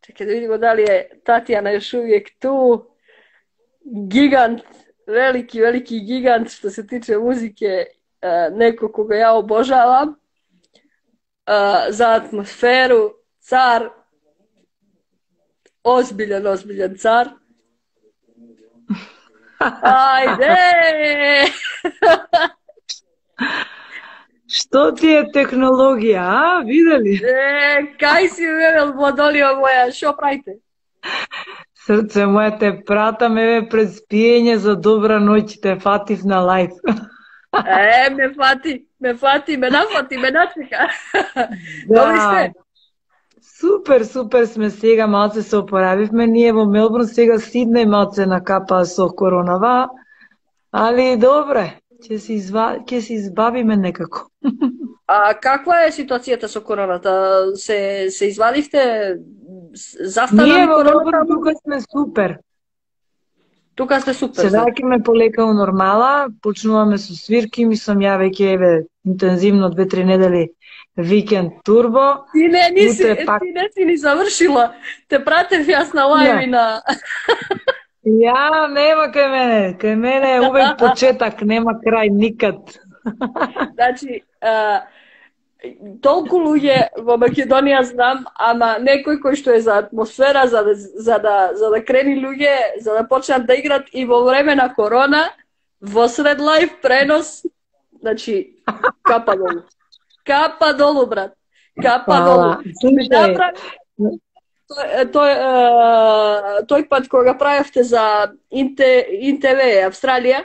Чекaj da vidimo da li je Tatjana još uvijek tu. Gigant, veliki gigant što se tiče muzike, neko koga ja obožavam. Za atmosferu, car, ozbiljan car. Ajde! Што ти е технологија, а? Видели? Кај си, водолио моја, шо правите? Срце моја, те пратам, еве, пред спиење за добра ноќ, те фатив на лайф. Ме нафати, ме начека. Да. Добри сте? Супер сме сега, малце се опоравивме, ние во Мелбурн сега Сиднеј малце накапа со коронава, али добре, ќе се избавиме некако. А каква е ситуацијата со короната? Се извадивте? Застана ние во короната? Мелбурн тука сме супер. Тука сте супер. Се враќаме полека у нормала, почнуваме со свирки, мислам ја веќе еве интензивно 2-3 недели викенд турбо. Ти не си ни завршила. Те пратев јас на лајви на... Ја, нема кај мене е увек почетак, нема крај никад. Значи, толку луѓе во Македонија знам, ама некој кој што е за атмосфера, за да крени луѓе, за да почнат да играт и во време на корона, во сред лајв пренос, значи, капа долу. Капа долу, брат. Капа долу. Тој пат кога правевте за ИНТВ Австралија,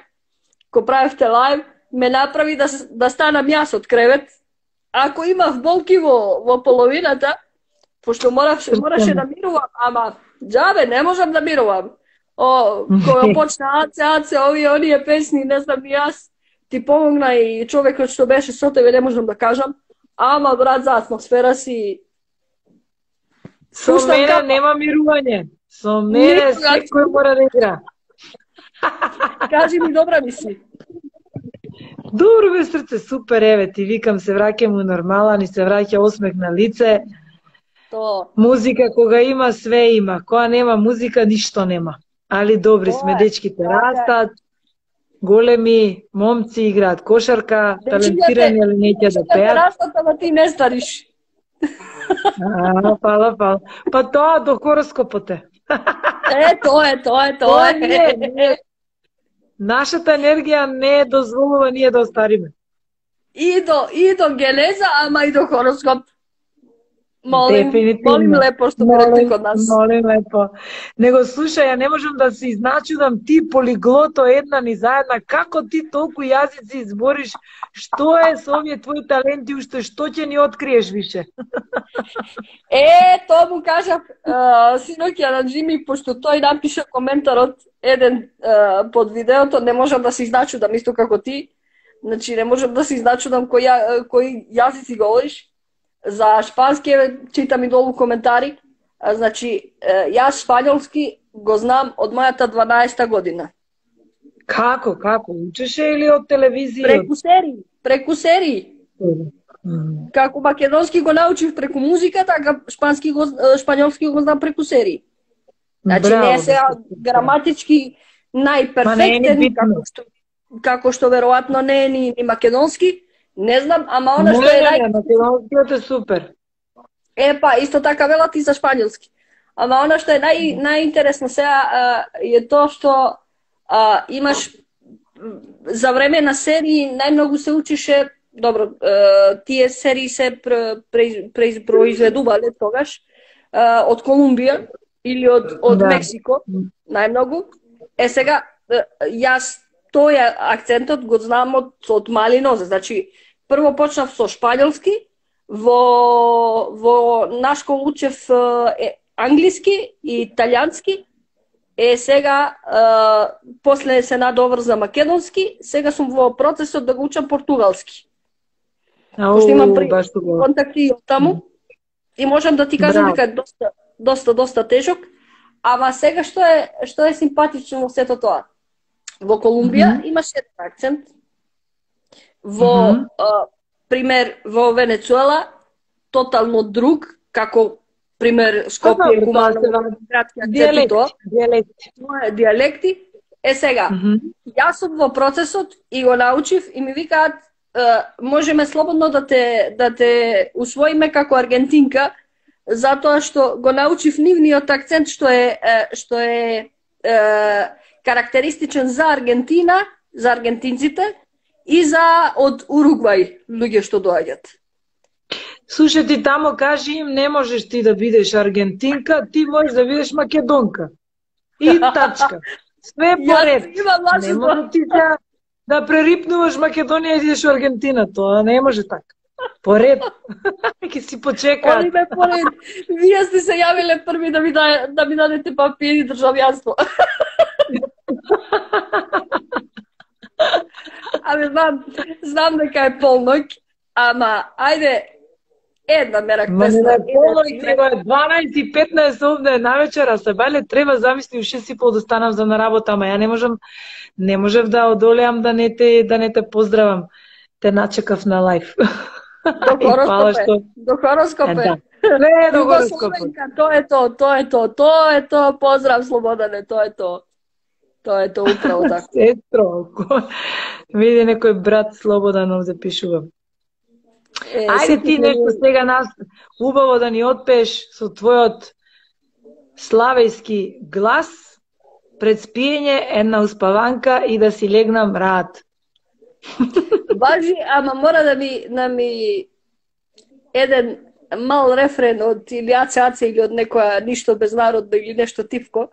кога правевте лајв, ме направи да станам јас од кревет. Ако имав болки во половината, пошто мораше да мирувам, ама џабе, не можам да мирувам. Кога почна аце, оние песни, не знам и јас, ти помогна и човекот што беше со тебе, не можам да кажам, ама брат, за атмосфера си... Со мене нема мирување. Со мене секој мора да игра. Кажи ми, добра ми си. Добро бе, срце, супер, еве, ти викам, се враќам у нормала, ни се враќа осмех на лице. Музика, кога има, све има. Кога нема музика, ништо нема. Али добри сме, дечките растат, големи, момци играат кошарка, талентирани, али неќе да пеат. Растат, ама ти не стариш. Фала. Па тоа до хороскопот е. Тоа е. Нашата енергија не дозволува ние да остариме. И до генеза, ама и до хороскоп. Молим лепо што ме код нас. Молим лепо. Него слушај, ја не можам да се изначудам, ти полиглото една ни заедна, како ти толку јазици избориш, што е со овие твои таленти, уште што ќе ни откриеш више? Тоа му кажав синоќа на Джими, пошто тој напиша коментарот еден под видеото, не можам да се изначудам исто како ти. Значи не можам да се изначудам кои јазици говориш. За шпански читам и долу коментари. Значи, јас шпањолски го знам од мојата 12-та година. Како? Учеше или од телевизија? Преку серии. Како македонски го научив преку музика, така шпањолски го знам преку серии. Значи, не е сега граматички најперфектен, како што веројатно не е ни македонски. Не знам, ама она што е македонскиот е супер. Па, исто така велат и за шпањолски. Ама она што е најинтересно сега е тоа што имаш за време на серии најмногу се учише, добро, тие серии се произведувале тогаш од Колумбија или од Мексико, најмногу. Сега, јас тој акцентот го знам од мали нозе. Значи, прво почнав со шпањолски, во на школа учев англиски и италијански, сега после се надоврза македонски, сега сум во процесот да го учам португалски. Пошто имам контакти од таму и можам да ти кажам дека е доста тежок, ама сега што е симпатично во сето тоа. Во Колумбија имаше еден акцент, пример во Венецуела тотално друг, како пример Скопје, Куманово, градски акцент и тоа. Диалекти. Сега, јас сум во процесот и го научив и ми викаат можеме слободно да те усвоиме како аргентинка, затоа што го научив нивниот акцент што е карактеристичен за Аргентина, за аргентинците и за од Уругвај луѓе што доаѓаат. Слушај, ти тамо кажи им, не можеш ти да бидеш аргентинка, ти можеш да бидеш македонка. И тачка. Све поред. Не може ти да прерипнуваш Македонија и идеш во Аргентина, тоа не може така. Поред. Ке си почекаат. Они ме поред. Вие сте се јавиле први да ми дадете папири државјанство. Знам дека е полноќ, ама ајде една мерак песна. Ма не полноќ, него е 12:15 овде навечера, се бале треба замисли у 6:30 да станам за на работа, ама ја не можев да одолеам да не те поздравам. Те начекав на лајф. До хороскопе. Не, до хороскопе. Тоа е тоа, поздрав Слободане, тоа е тоа. Тоа е тоа, управо така. Сестро, види некој брат Слободан овде пишува. Ајде ти нешто сега нас убаво да ни отпееш со твојот славејски глас пред спиење, една успаванка и да си легнам рад. Важи, ама мора да ми еден мал рефрен од Илијаце Аце или од некоја ништо безнародно или нешто тивко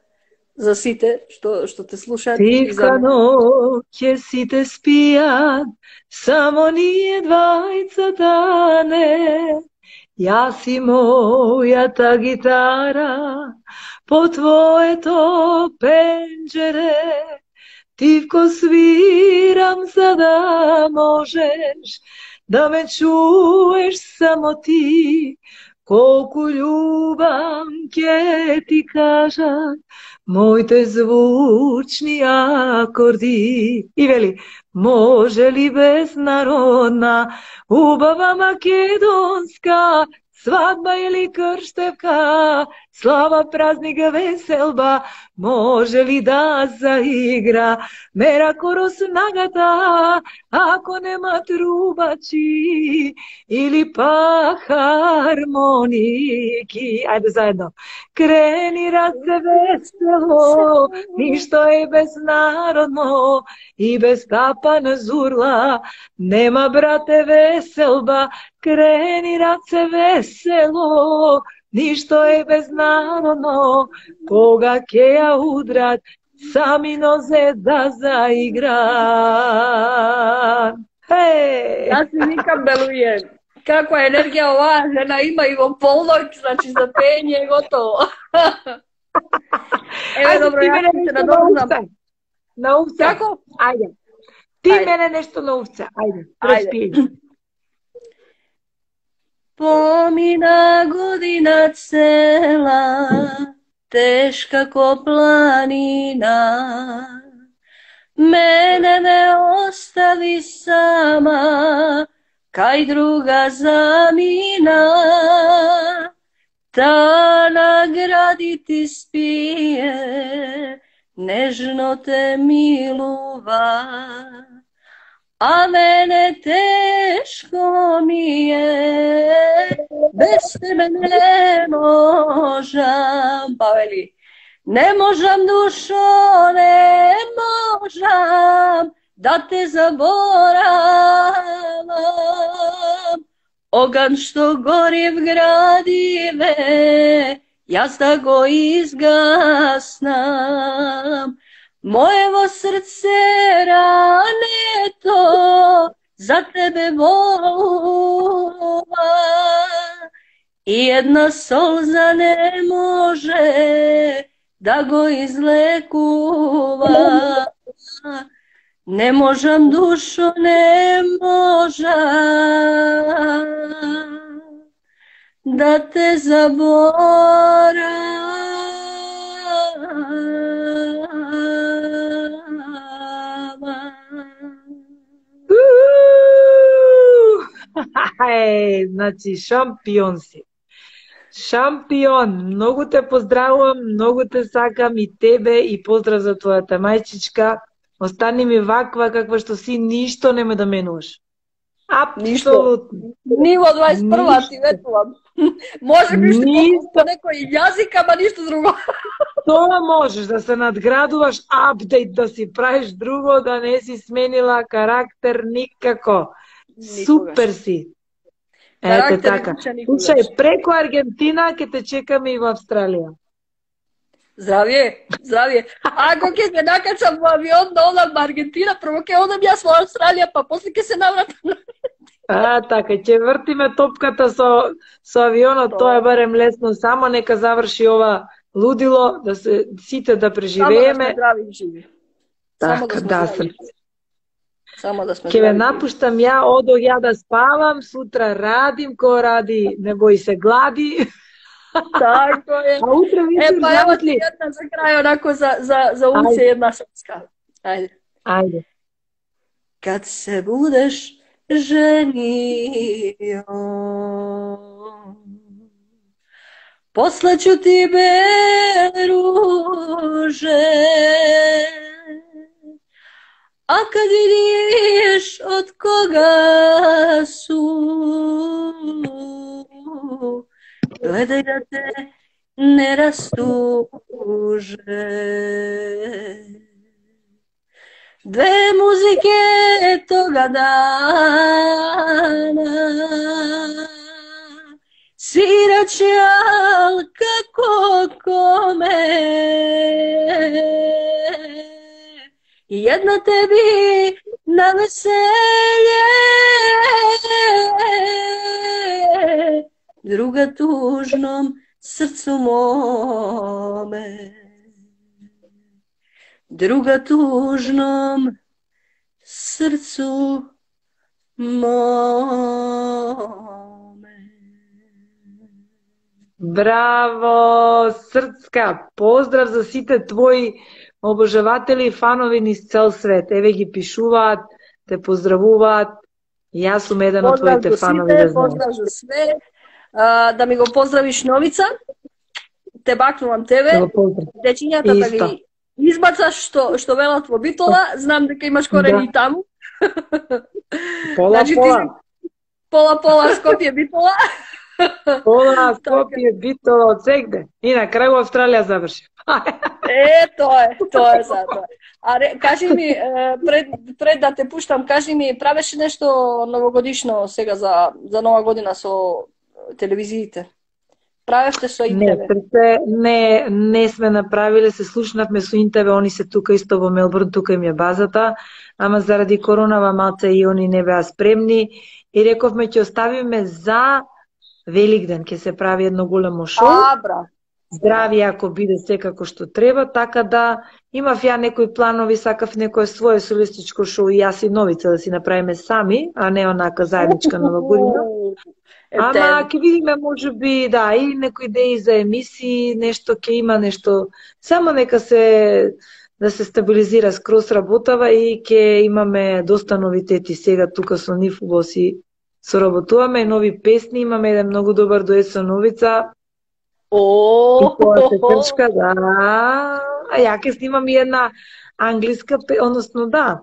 за сите што те слушаат. Тивка ноќе сите спијат, само ние двајцата не. Јас и мојата гитара по твоето пенџере. Тивко свирам за да можеш да ме чуеш само ти. Колку љубам ќе ти кажат моите звучни акорди. И вели, може ли безнародна, убава македонска, свадба или крштевка, слава, празник, веселба, може ли да заигра мерако снагата, ако нема трубачи или па хармоники. Ајде заедно. Крени раце весело, ништо е безнародно и без тапана зурла, нема брате веселба. Крени раце весело, ништо е безнародно, кога ќе ја удрат, сами нозе да заиграт. Јас си викам Белује, каква енергија оваа жена има и во полноќ, значи за пење е готово. Еве, добро, јас се надолжам. На овце. Како? Ајде. Ти мене нешто на овце. Ајде, преспи. Помина година цела, тешка ко планина, мене не остави сама, кај друга замина. Та награди ти спие, нежно те милува, а мене тешко ми е, без тебе не можам. Павели, не можам, душо, не можам да те заборавам. Оган што гори в градиве, јас да го изгаснам. Моево срце рането за тебе волува и една солза не може да го излекува. Не можам, душо, не можам да те заборавам. Значи, шампион си. Шампион, многу те поздравувам, многу те сакам и тебе и поздрав за твојата мајчичка. Остани ми ваква каква што си, ништо нема да менуваш. Апсолутно. Ниво 21 ти ветувам. Може би што по некој јазик, ама ништо друго. Тоа можеш да се надградуваш, апдейт да си правиш, друго да не си сменила карактер никако. Супер си. Ете така. Слушај, преку Аргентина ќе те чекаме и во Австралија. Здравје, здравје. Ако ќе се накачам во авион да одам во Аргентина, прво ќе одам јас во Австралија, па после ќе се навратам. Така, ќе вртиме топката со авионот, тоа е барем лесно, само нека заврши ова лудило, да се сите да преживееме. Само да сме здрави и живи. Така, да сме. Само да сме Ке ве напуштам ја, одох ја да спавам, сутра радим, кој ради не бои се глади. Така е. А утре вечер па ево ти една за крај, онако за улице една шапска. Ајде. Ајде. Kad se budeš ženio, poslaću ti bele ruže, a kad vidiš od koga su, gledaj da te ne rastuže. Dve muzike toga dana sviraće, al kako kome. Jedna tebi na veselje, druga tužnom srcu mome. Druga tužnom srcu mome. Браво, Срцка! Поздрав за сите твои обожаватели и фанови низ цел свет. Еве ги пишуваат, те поздравуваат. Јас сум еден од твоите фанови, да знаеш. Поздрав за све. Да ми го поздравиш Новица. Те бакнувам тебе. Дечињата да ги избацаш што велат во Битола, знам дека имаш корени таму. Пола. Пола Скопје Битола. Пола Скопје Битола од сегде. И на крај во Австралија заврши. Тоа е за тоа. Кажи ми, пред да те пуштам, кажи ми, правеше нешто новогодишно сега за нова година со телевизиите? Правевте со Интеве? Не сме направиле, се слушнавме со Интеве, они се тука исто во Мелбурн, тука им е базата, ама заради коронава малце и они не беа спремни и рековме ќе оставиме за Великден, ќе се прави едно големо шоу. Здрави ако биде секако што треба, така да имав ја некои планови, сакав некое свое солистичко шоу и јас и Новица да си направиме сами, а не онака заедничка нова година. Ама ќе видиме, може би, да, и некои идеи за емисии, нешто ќе има, нешто, само нека да се стабилизира скроз работава и ќе имаме доста новитети сега тука со нив, убаво си соработуваме, нови песни, имаме еден многу добар дует со Новица. И тоа се крчка, да. А ја ќе снимам и една англиска, односно да,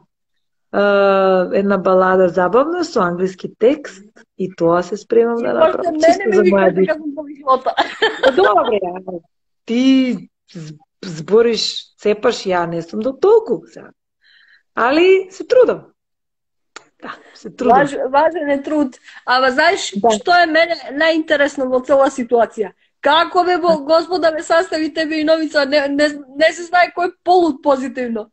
една балада забавна со англиски текст и тоа се спремам да направам. Мене ми викате дека сум повишлота. Добре, ти збориш, цепаш, ја не сум до толку. Али се трудам. Да, се трудам. Важен е труд. Ама знаеш што е мене најинтересно во цела ситуација? Како бе Господа ме sastavi тебе и Новица, не се знае кој полут позитивно.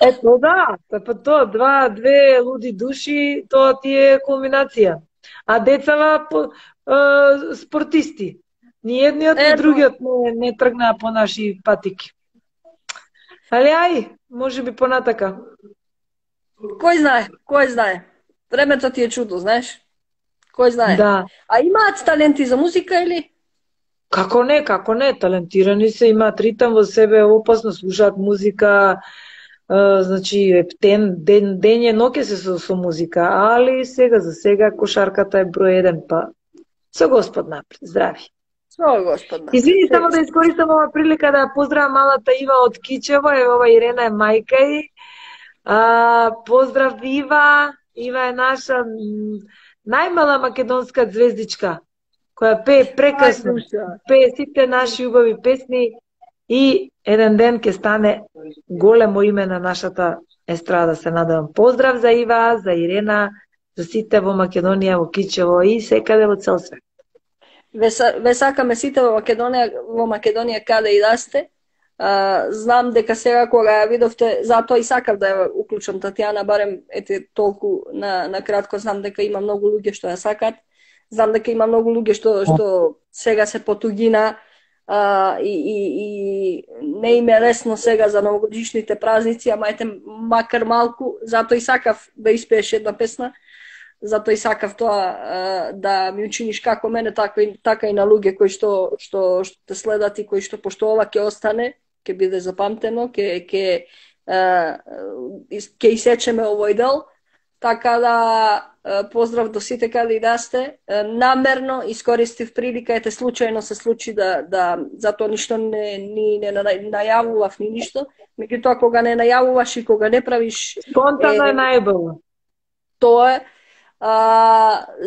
Ето да, па тоа, две луди души, тоа ти е кулминација. А децава спортисти. Ни едниот, ни другиот не тргнаа по наши патики. Али ај, може би понатака. Кој знае. Времето ти е чудо, знаеш? Кој знае. Да. А имаат таленти за музика или? Како не, талентирани се, имаат ритам во себе, опасно слушаат музика, значи ден е ноќе се со музика, али за сега кошарката е број 1, па со Господ напред, здрави. Со Господ. Извини, само да искористам ова прилика да поздравам малата Ива од Кичево, ова Ирена е мајка и. Поздрав Ива, Ива е наша најмала македонска звездичка, која пее прекрасно, пее сите наши убави песни и еден ден ќе стане големо име на нашата естрада, се надевам. Поздрав за Ива, за Ирена, за сите во Македонија, во Кичево и секаде во цел свет. Ве сакаме сите во Македонија каде и да сте. Знам дека сега кога ја видовте, затоа и сакав да ја уклучам Татјана, барем ете толку на кратко, знам дека има многу луѓе што ја сакат. Знам дека има многу луѓе што сега се потугина и не им е лесно сега за новогодишните празници, ама ете макар малку, затоа и сакав да испееш една песна. Затоа и сакав тоа да ми учиниш како мене, така и на луѓе кои што те следат и кои што пошто ова ќе остане, ќе биде запамтено, ќе исечеме овој дел. Така да поздрав до сите каде и да сте. Намерно искористив прилика, ете случајно се случи да затоа ништо не најавував ни ништо. Меѓутоа кога не најавуваш и кога не правиш спонтано е најбоље. Тоа е.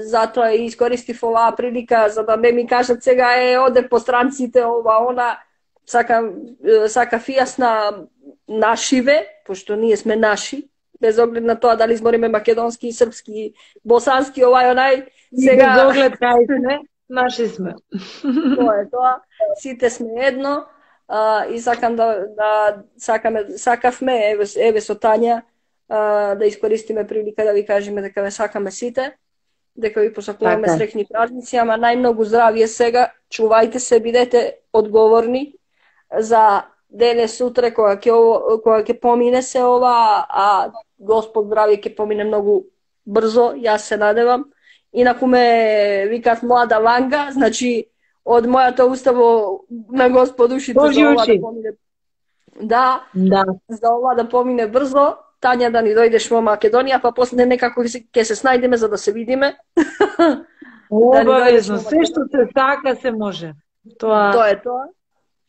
Затоа и искористив оваа прилика за да ми кажат сега оде по странците ова она, сакав и јас на нашиве, пошто ние сме наши, без оглед на тоа дали збориме македонски, српски, босански, овај онај, сега без оглед кај сме, наши сме. Тоа е тоа, сите сме едно и сакам сакавме еве со Тања да искористиме прилика да ви кажеме дека ве сакаме сите, дека ви посакуваме среќни празници, ама најмногу здравје сега, чувајте се, бидете одговорни за денес, сутре, кога ќе помине се ова, а Господ здравје ќе помине многу брзо, јас се надевам. Инаку ме викат млада Ванга, значи од мојата уста на Господ ушите за ова да помине. Да, за ова да помине брзо. Тања, да ни дојдеш во Македонија, па после некако ќе се снајдеме за да се видиме. Обавезно, се што се сака се може. Тоа е тоа.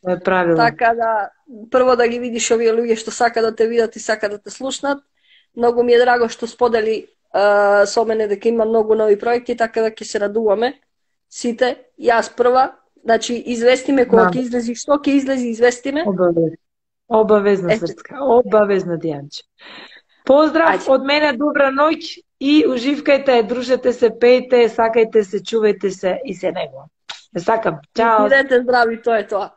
Тоа е правилно. Така да, прво да ги видиш овие луѓе што сака да те видат и сака да те слушнат. Многу ми е драго што сподели со мене дека има многу нови проекти, така да ќе се радуваме сите. Јас прва, значи известиме кога ќе излези, што ќе излези, известиме. Обавезно, Срцка, обавезно, Дијанче. Поздрав од мене, добра ноќ и уживкајте, дружете се, пејте, сакајте се, чувајте се и се него. Те сакам, чао. Бидете здрави, тоа е тоа.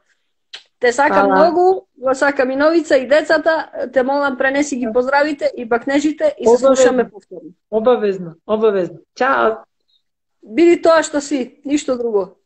Те сакам многу, го сакам и Новица и децата, те молам пренеси ги поздравите и бакнежите и се слушаме повторно. Обавезно, обавезно. Чао. Биди тоа што си, ништо друго.